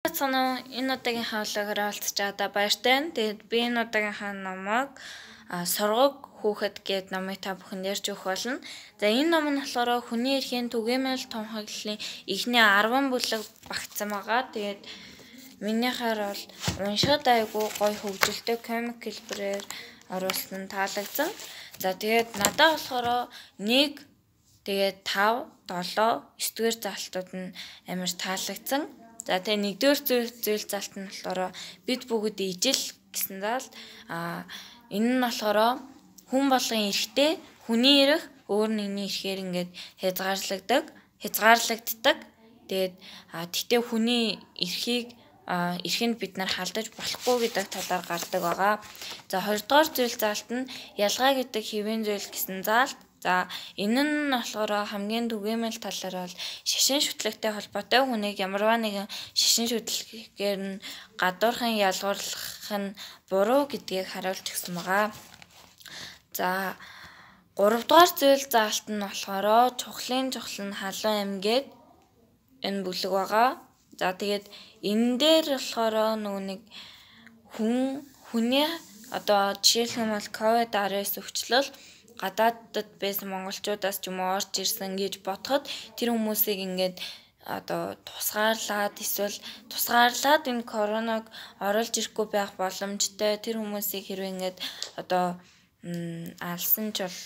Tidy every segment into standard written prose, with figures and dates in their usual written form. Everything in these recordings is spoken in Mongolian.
Цаана энэ удаагийн хавлагаар олцож байгаа баяртай. Тэгээд би энэ удаагийнхаа номыг Сургаг хүүхэд гээд номыг та бүхэнд ярьж өгөх болно. За энэ ном нь болохоор хүний эрхийн түгээмэл тунхаглалын эхний 10 бүлэг багтсан байгаа. Тэгээд минийхээр бол уншихад айгүй гоё хөгжилтэй комик хэлбэрээр оруулсан таалагдсан. За тэгээд надад болохоор 1 тэгээд 5, 7, 9-р залтууд нь амар таалагдсан. За тэгээ 1-р зүйл залт нь болохоор бид бүгд ижил гэсэн залт. Энэ нь болохоор хүн болгон эрхтэй, хүний эрх өөр нэгний эрхээр ингээд хязгаарлагддаг. Тэгээд тэгтээ хүний эрхийг бид нар халдаж болохгүй гэдэг талаар гардаг байгаа. За 2-р зүйл залт нь ялгаа гэдэг хэвийн зүйл гэсэн залт. За энэ нь болохоор хамгийн түгээмэл талаар бол шашин шүтлэгтэй холбоотой хүнийг ямарваа нэгэн шашин шүтлэгээр нь гадуурхан ялгуурлах нь буруу гэдгийг харуулж өгсөн байгаа. За 3-р зүйл заалт нь болохоор чухлын чухал нь халуун амьгээд энэ бүлэг байгаа. За тэгээд энэ дээр болохоор нэг хүний одоо жишээлх юм бол COVID-19 өвчлөл гадаадд байсан монголчуудаас ч юм уу орж ирсэн гэж бодоход тэр хүмүүсийг ингээд одоо тусгаарлаад энэ коронавиг оруулж ирэхгүй байх боломжтой тэр хүмүүсийг хэрвээ ингээд одоо алсан ч бол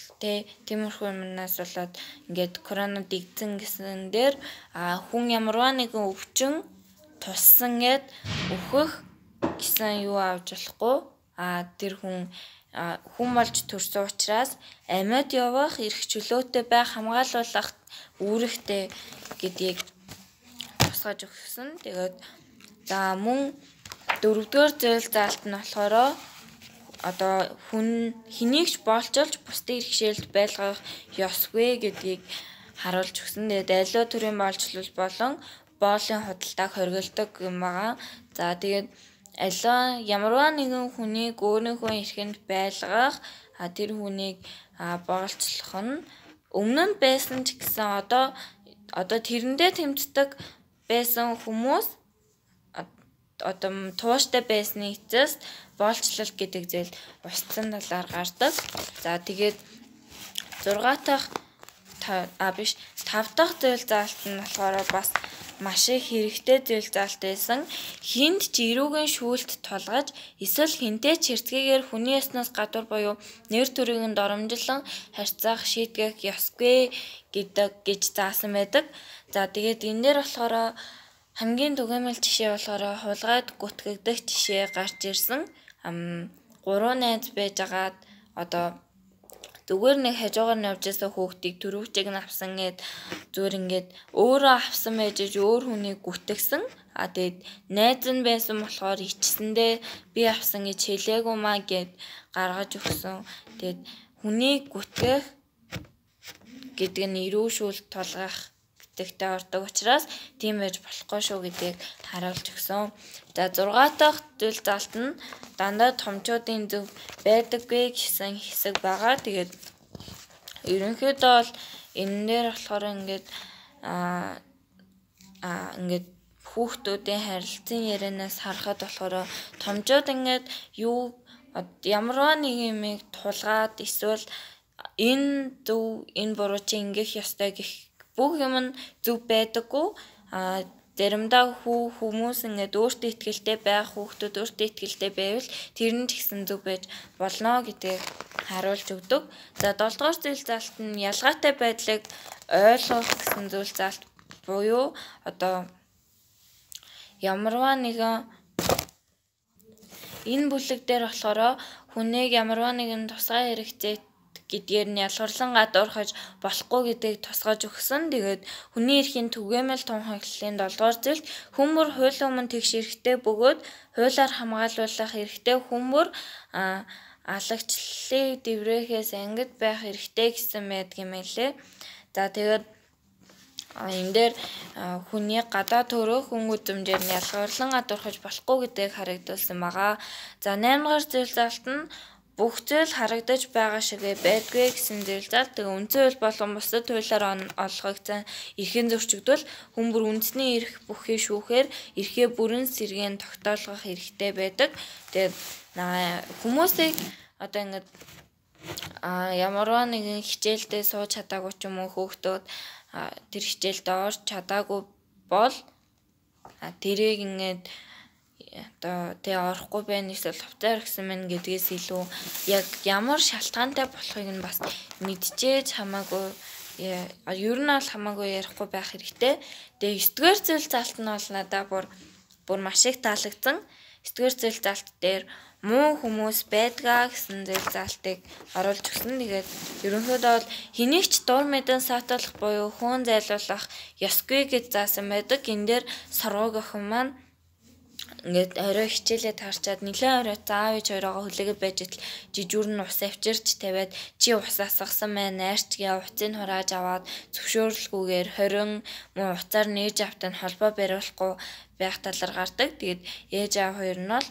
тиймэрхүү юмнаас болоод ингээд корона дэгдсэн гэсэн дээр хүн ямарваа нэгэн өвчин туссан гэд өөхөх гэсэн юу авч болохгүй тэр хүн болж төрсөн учраас амьд явах эрх чөлөөтэй байх хамгаалуулах үүрэгтэй гэдгийг тусгаж өгсөн. Тэгээд за мөн 4-р зүйл заалт нь болохоор одоо хүн хэнийгч боолчулж бусдын иргэшээлд байлгах ёсгүй гэдгийг харуулж өгсөн. Тэгээд аливаа төрлийн боолчлол болон боолын худалдааг хоригддог юм байгаа. За тэгээд ямарваа нэгэн хүнийг өөрийнхөө эрхэнд байлгах тэр хүнийг боолчлох нь өмнө нь байсан ч гэсэн одоо тэрэндээ тэмцдэг байсан хүмүүс одоо тууштай байсны эцэст боолчлол гэдэг зүйл устсан талаар гардаг. За тэгээд 5 дахь зүйл заалт нь болохоор бас маш их хэрэгтэй зүйл заалт байсан. Хинд ч эрүүгийн шүүлт тулгаж эсвэл хинтэй ч хэрцгийгээр хүний яснаас гадуур буюу нэр төрийг нь доромжлон харьцах шийдгэх ёсгүй гэж заасан байдаг. За тэгээд энэ дээр болохоор хамгийн түгээмэл жишээ болохоор хулгайд гүтгэгдэх жишээ гарч ирсэн. 3 найз байжгаад одоо зүгээр нэг хажуугаар нь явж байсан хүүхдийг төрөвчийг нь авсан гэд зүгээр ингээд өөрөө авсан байж өөр хүнийг гүтгсэн. Тэгээд найз нь байсан болохоор ичсэндээ би авсан гэж хэлээгүй маа гэд гаргаж өгсөн. Тэгээд хүнийг гүтгэх гэдэг нь эрүү шүүлт тулгах гэдэгтэй ордог учраас тийм байж болохгүй шүү гэдгийг харуулж өгсөн. За 6 дахь зүйл заалт нь дандаа томчуудын зөв байдаггүй гэсэн хэсэг байгаа. Тэгээд ерөнхийдөө бол энэ дээр болохоор ингээд хүүхдүүдийн харилцан ярианаас харахад болохоор томчууд ингээд ямарваа нэг юмыг тулгаад эсвэл энэ зөв энэ буруу чи ингэх ёстой гэх бүх юм нь зөв байдаггүй. Заримдаа хүмүүс ингээд өөртөө итгэлтэй байх хүүхдүүд өөртөө итгэлтэй байвал тэр нь ч гэсэн зөв байж болно гэдгийг харуулж өгдөг. За 7-р зүйл заалт нь ялгаатай байдлыг ойлгох гэсэн зүйл заалт буюу одоо ямарваа нэгэн энэ бүлэг дээр болохоор хүнийг ямарваа нэгэн тусгай хэрэгцээ гэдгээр нь ялгарлан гадуурхаж болохгүй гэдгийг тусгаж өгсөн. Тэгээд хүний эрхийн түгээмэл тунхаглалын 7-р зүйлд хүн бүр хуулийн өмнө тэгш эрхтэй бөгөөд хуулиар хамгаалуулах эрхтэй хүн бүр алагчлалыг дэврэхээс ангид байх эрхтэй гэсэн байдаг юм лээ. За тэгээд энэ дээр хүний гадаа төрөх хүн үзмжээр нь ялгарлан гадуурхаж болохгүй гэдгийг харагдуулсан байгаа. За 8-р зүйл заалт нь бүх зүйл харагдаж байгаа шигэ байдгүй гэсэн зөвлөлт. Тэгээ үндсэн хууль болон бусдад хуулиар олгогдсон эрхийн зөрчигдөл хүн бүр үндэсний эрх бүхий шүүхээр эрхээ бүрэн сэргээн тогтоолгох хэрэгтэй байдаг. Тэгээд хүмүүсийг одоо ингээд ямарваа нэгэн хичээлдээ сууж чадаагүй ч юм уу хүүхдүүд тэр хичээлдээ орж чадаагүй бол тэрийг ингээд одоо тэ орохгүй байна эсвэл хувцаар гэсэн мэн гэдгээс илүү яг ямар шалтгаантай болохыг нь бас мэдчихээж хамаагүй ер нь бол хамаагүй ярихгүй байх хэрэгтэй. Тэгээ 9-р зүйл залт нь бол надад бүр маш их таалагдсан. 9-р зүйл залт дээр муу хүмүүс байдгаа гэсэн зүйл залтыг оруулж өгсөн. Тэгээд ерөнхийдөө бол хэнийг ч дур мэдэн саатуулах буюу хөөн зайлуулах ёсгүй гэж заасан байдаг. Энэ дээр сургууль охин маань ингээд орой хичээлээ таарчаад нэлээд орой заав ээж хоёроо хүлээгээд байж итл жижүүр нь ус авчирч тавиад чи ус асгасан маань найрчгээ уцыг хурааж аваад зөвшөөрлгүйгээр 20 муу уцаар нээж автан холбоо бариулахгүй байх талаар гардаг. Тэгээд ээж аав хоёр нь бол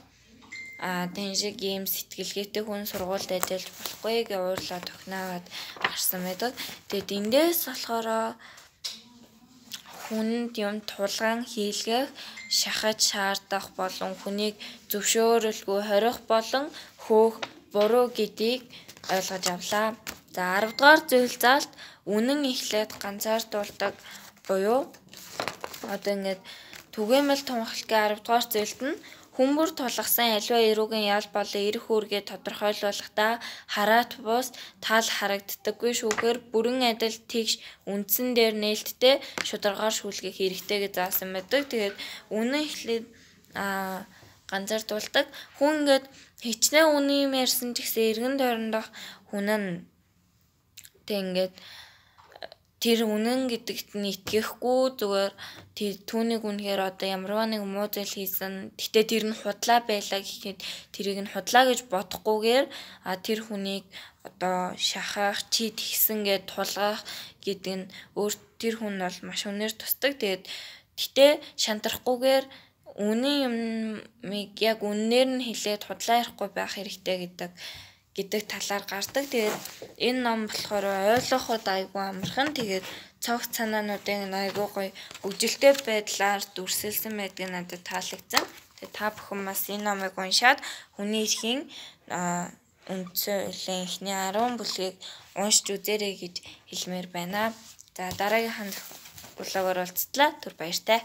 тэн шиг ийм сэтгэлгээтэй хүн сургуульд ажиллаж болохгүй гэж уурлаа тохиноод гарсан байдаг. Тэгээд эндээс болохоор хүнд юм тулгаан хийлгэх, шахаж шаардах болон хүнийг зөвшөөрөлгүй хорих болон хөөх буруу гэдгийг ойлгож авлаа. За 10 дугаар зүйл залт үнэн эхлээд ганцаардуулдаг буюу одоо ингээд түгээмэл тунхаглалын 10 дугаар зүйлд нь Хүмүүр тулгасан аливаа эрүүгийн ял болон эрх үүргээ тодорхойлуулахдаа хараат бус тал харагддаггүй шүүхээр бүрэн адил тэгш үндсэн дээр нээлттэй шударгаар шүүлгэх хэрэгтэй гэж заасан байдаг. Тэгээд үнэн эхлээд ганцаардуулдаг. Хүн ингээд хичнээн үнэн юм ярьсан ч гэсэн эргэн тойрондох хүн нь тэг ингээд тэр үнэн гэдэгт нь итгэхгүй зүгээр түүнийг үнэхээр одоо ямарваа нэг муу зүйл хийсэн. Гэтэ тэр нь худлаа байлаа гэхэд тэрийг нь худлаа гэж бодохгүйгээр тэр хүнийг одоо шахах, чи тэгсэн гэд тулгах гэдэг нь тэр хүн бол маш үнээр тусдаг. Гэтэ шантрахгүйгээр үнэн юмыг яг үннээр нь хэлээд худлаа ярихгүй байх хэрэгтэй гэдэг талаар гардаг. Тэгээд энэ ном болохоор ойлгоход айгүй амархан. Тэгээд цогц санаануудын айгүй гоё хөгжилтэй байдлаар дүрсэлсэн байдгийг надад таалагдсан. Тэгээд та бүхэн бас энэ номыг уншаад хүний эрхийн үндсэн хуулийн эхний 10 бүлгийг уншиж үзээрэй гэж хэлмээр байна. За дараагийн хандах блогоор уулзтлаа. Түр баяртай.